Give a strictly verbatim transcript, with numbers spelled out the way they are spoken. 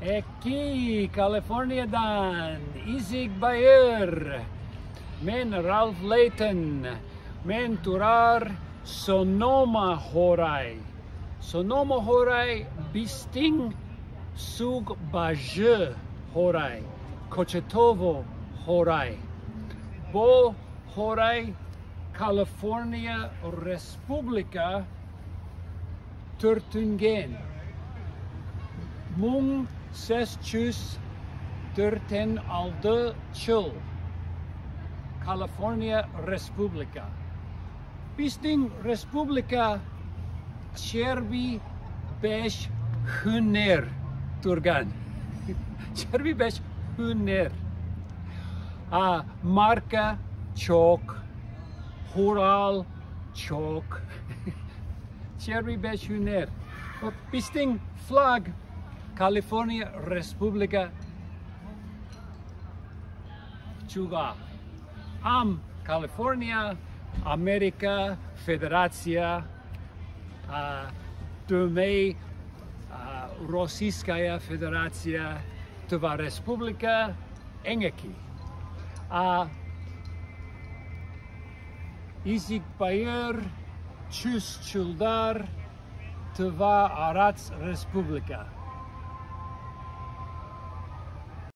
Эки, Калифорниядан изиг байыр. Мен Ральф Лейтон. Мен турар Сонома хоорай. Сонома хоорай бистиң суг бажы хоорай, Кочетово хоорай. Бо хоорай Калифорния Республика төрүттүнген муң сес чүс дөртен алды чыл. Калифорния Республика. Бистиң республика чээрби беш хүннер турган. Чээрби беш хүннер. А марка чок, хурал чок. Чээрби беш хүннер. Бистиң флаг Калифорния Республика чуга. Ам Калифорния, Америка, Федерация, а, дөмей, а, Российская Федерация, Тыва Республика, эң эки. А изиг байыр, чүс чылдар, Тыва Арат Республика.